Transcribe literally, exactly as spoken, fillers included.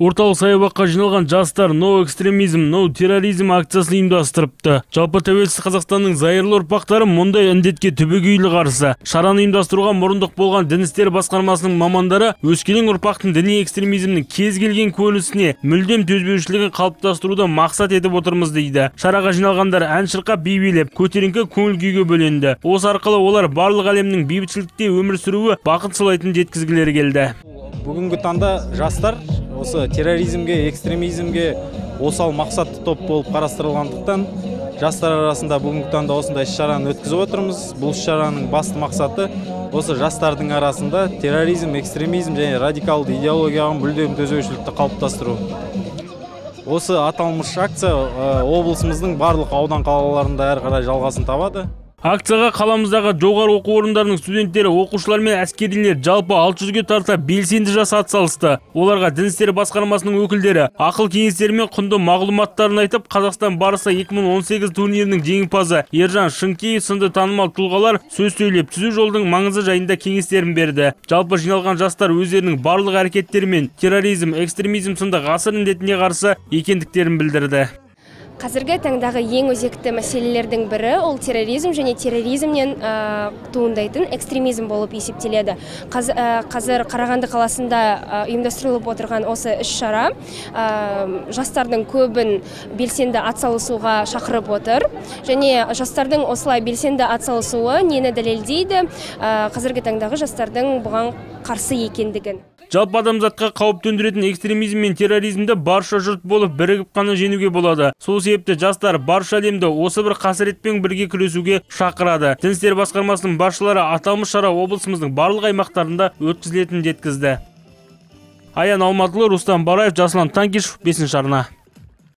Орталық саябаққа жиналған жастар «No экстремизм, no терроризм» акциясын ұйымдастырыпты. Жалпы тәуелсіз Қазақстанның зайырлы ұрпақтары мұндай індетке түбегейлі қарсы. Шараны ұйымдастыруға мұрындық болған дін істері басқармасының мамандары өскелең ұрпақтың діни экстремизмнің кез келген көрінісіне мүлдем төзбеушілігін қалыптастыруды мақсат етіп отырмыз дейді. Шараға жиналғандар ән шырқап, би билеп, көтеріңкі көңіл күйге бөленді. Осы арқылы олар барлық әлемнің бейбітшілікте өмір сүруі бақыт сыйлайтынын жеткізгілері келді. Бүгінгі таңда жастар осы терроризмге, экстремизмге осал мақсатты топ болып қарастырылғандықтан жастар арасында бүгінгі таңда осындай іс-шараны өткізіп отырмыз. Бұл іс-шараның басты мақсаты осы жастардың арасында терроризм, экстремизм және радикалды идеологияға мүлдем төзбеушілікті қалыптастыру. Осы аталмыш акция облысымыздың барлық аудан қалаларында әрі қарай жалғасын табады. Акцияға қаламыздағы жоғары оқу орындарының студенттері, оқушылар мен әскерилер жалпы алты жүзге тарта белсенді жас атсалысты. Оларға дін істері басқармасының өкілдері ақыл кеңестері мен құнды мағлұматтарын айтып, Қазақстан барысы екі мың он сегіз турнирінің жеңімпазы Ержан Шынкеев сынды танымал тұлғалар сөз сөйлеп, түзу жолдың маңызы жайында кеңестерін берді. Жалпы жиналған жастар өздерінің барлық әрекеттерімен терроризм, экстремизм сынды ғасыр індетіне қарсы екендіктерін білдірді. Қазіргі таңдағы ең өзекті мәселелердің бірі ол терроризм және терроризмнен туындайтын экстремизм болып есептеледі. Қазір Қарағанды қаласында ұйымдастырылып отырған осы іс-шара жастардың көбін белсенді атсалысуға шақырып отыр. Және жастардың осылай белсенді атсалысуы нені дәлелдейді? Қазіргі таңдағы жастардың бұған қарсы екендігін. Жалпы адамзатқа қауіп төндіретін экстремизм мен терроризмді барша жұрт болып бірігіп қана жеңуге болады. Сол себепті жастар барша әлемді осы бір қасіретпен бірге күресуге шақырады. Дін істері басқармасының басшылары аталмыш шара облысымыздың барлық аймақтарында өткізілетінін жеткізді. Аян Алматылы, Рустам Бараев, Жасұлан Танкишев, бесінші арна.